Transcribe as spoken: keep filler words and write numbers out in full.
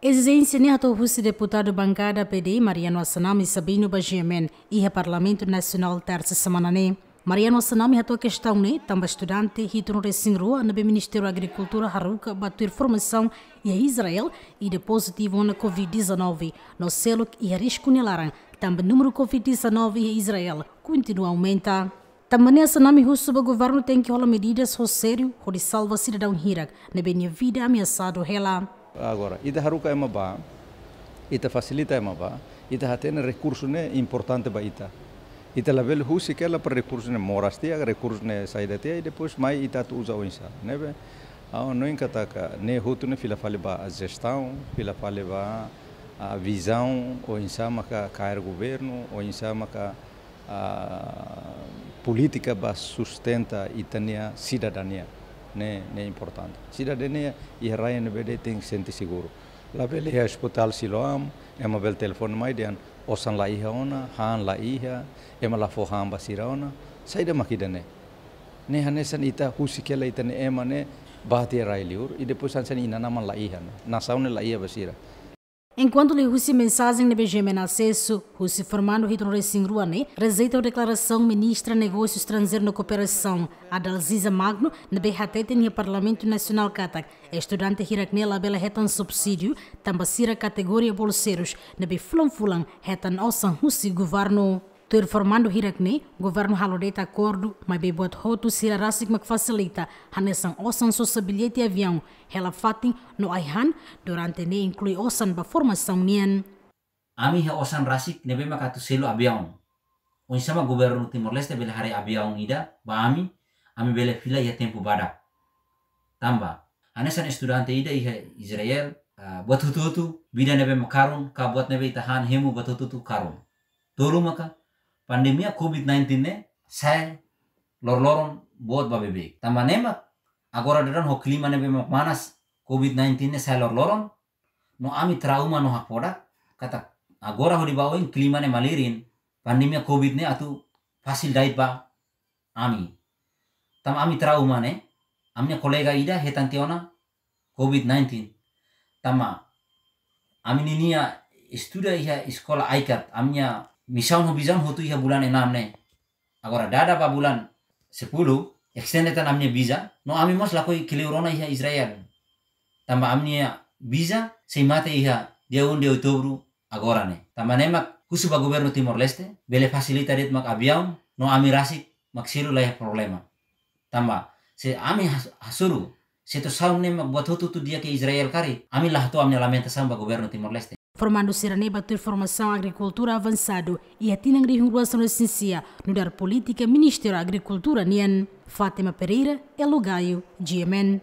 Ezijénsia ne'e hato'o husi deputadu bankada P D, Mariano Assanami Sabino ba G M N, iha Parlamentu Nasionál tersa semana ne'e. Mariano Assanami hato'o kestaun ne'e tanba estudante hitunulu-resin-rua ne'ebé Ministériu Agrikultura haruka ba tuir formasaun iha Israel ida pozitivu ona covid dezanove, no seluk iha risku nia laran, tanba númeru covid dezanove iha Israel kontinua aumenta. Tanba ne'e Assanami husu ba governu tenke hola medidas ho sériu hodi salva sidadaun hirak ne'ebé nia vida ameasadu hela. Agora, ita haruka ema bá, ita fasilita ema bá, ita hatene rekursu ne'e importante ba ita. Ita labele husik hela para rekursu ne'e moras tiha, rekursu ne'e saida tiha, i depois mai ita atu uza oinsá. Ne'ebé, ha'u hanoin katak ne'e hotu ne'e fila fali ba jestaun, fila fali ba, ah, vizaun, oinsá maka kaer governu, oinsá maka, ah, polítika ba sustenta ita-nia sidadania. Ne'e, ne'e importante. Sidadania iha rai ne'ebé de'it tenke sente seguru. Labele iha Ospitál Siloam, ema bele telefone mai dehan osan la iha ona, han la iha, ema la fó han ba sira ona. Saida mak ida-ne'e? Ne'e hanesan ita husik hela ita-nia ema ne'e bá tiha rai-liur, i depois hanesan inan-aman la iha, ne'e nasaun ne'e la iha ba sira. Enkuantu liuhusi mensajen ne'ebé G M N asesu, husi formandu hitunulu-resin-rua ne'e rejeita deklarasaun Ministra Negósiu Estranjeiru no Kooperasaun, Adalziza Magno, ne'ebé hateten iha Parlamentu Nasionál katak estudante hirak ne'e labele hetan subsídiu tanba sira kategoria bolseirus ne'ebé fulan-fulan hetan osan husi governu. Tuir formandu hirak ne'e, governu halo de'it akordu, maibé buat hotu sira rasik mak fasilita, hanesan osan sosa billete aviaun, hela fatin no ai-han, durante ne'e inklui osan ba formasaun nian. Ami iha osan rasik ne'ebé mak atu selu aviaun. Oinsá mak governu Timor-Leste bele haree aviaun ida ba ami, ami bele fila iha tempu badak. Tanba hanesan estudante ida iha Israel, ah, buat hotu-hotu, vida ne'ebé mak karun, ka buat ne'ebé ita han hemu buat hotu-hotu karun. Tolu maka, pandemia covid nineteen ne'e sa'e loroloron boot ba beibeik. Tanba ne'e mak, agora daudaun ho klima ne'ebé mak manas, covid nineteen ne'e sa'e loroloron, no ami trauma no hakfodak, katak agora hodi ba oin klima ne'e malirin, pandemia covid ne'e atu fasil da'et ba ami. Tanba ami trauma ne'e, ami-nia kolega ida hetan tiha ona covid nineteen. Tanba ami ninia estuda iha eskola aikat, ami-nia misaun ho vizaun hotu iha bulan enam ne'e. Agora dada ba bulan sepuluh, extend tan ami-nia visa, no ami mós lakohi kleur ona iha Israel. Tanba ami-nia visa sei mate iha dia um de outubro agora ne'e. Tanba ne'e mak husu ba governu Timor-Leste, bele fasilita de'it mak aviaun, no ami rasik mak selu la iha problema. Tanba, se ami has-, hasoru, se to'o saun ne'e mak buat hotu-hotu di'ak iha Israel karik, ami la hato'o ami-nia lamentasaun ba governu Timor-Leste. Formandu sira-ne'e bá tuir formasaun agrikultura avansadu iha tinan rihun rua sanulu-resin-sia, nu'udar polítika Ministériu Agrikultura nian. Fátima Pereira, Elo Gaio, G M N.